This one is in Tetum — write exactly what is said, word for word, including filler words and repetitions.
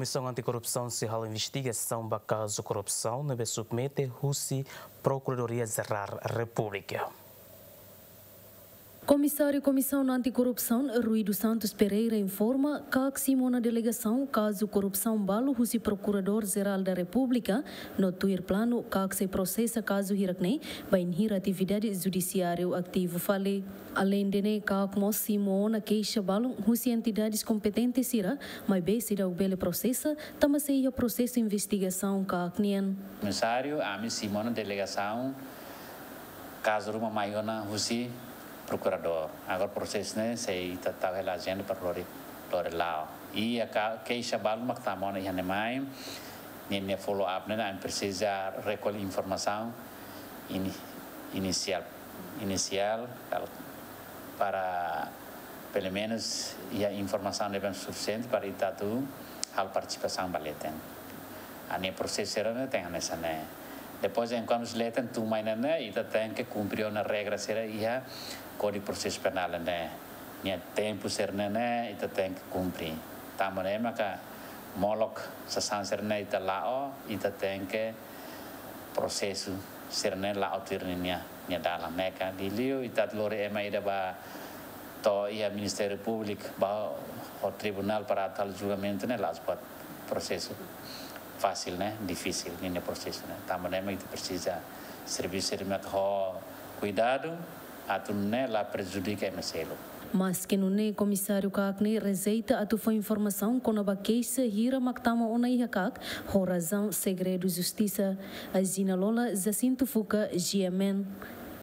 Komisaun Antikorrupsaun sei halo investigasaun ba kazu korrupsaun ne'ebé submete husi Prokuradoria Jerál Repúblika. Komisáriu Komisaun Antikorrupsaun, Rui dos Santos Pereira, informa katak simu ona delegasaun kazu korrupsaun balu husi Prokuradór Jerál da Repúblika, no tuir planu katak sei prosesa kazu hirak-ne'e bainhira atividade judisiáriu ativu fali. Aleinde ne'e, katak mós simu ona keixa balun husi entidades kompetente sira, maibé seidauk bele prosesa, tanba sei iha prosesu investigasaun kaak nian. Komisáriu, ami simu ona delegasaun kazu ruma mai ona husi prokuradór. Agora prosesu ne'e sei ita tau hela ajenda para lori, lori la'o. I iha keixa balun mak tama ona iha ne'e mai, ninia follow up ne'e, ami presiza rekolle informasaun ini, inisiál, inisiál, kal-, para pelumenus iha informasaun ne'ebé sufisiente para ita atu halo partisipasaun ba leten. Ami prosesu sira-ne'e tenke hanesan ne'e. Depois, enkuantu leten tun mai ne'e, ita tenke kumpre ona regra sira iha Kódigu Prosesu Penál ne'e. Nia tempu sira-ne'e ita tenke kumpre. Tanba ne'e maka molok sasán sira-ne'e ita la'o, ita tenke prosesu sira-ne'e la'o tuir ninia, nia dalan ne'e ka. Liuliu ita lori ema ida ba to'o iha Ministériu Públiku ba ho tribunál para atu halo julgamentu ne'e la'ós buat prosesu fasil ne'e, difisil ninia prosesu ne'e. Tanba ne'e mak ita presiza servisu sira-ne'e ho kuidadu, atu nune'e la prejudika ema seluk. Maske nune'e, komisáriu kaak ne'e rejeita atu fó informasaun kona-ba keixa hira mak tama ona iha kaak, ho razaun segredu justisa. Agina Lola, Jacinto Fuca, G M N.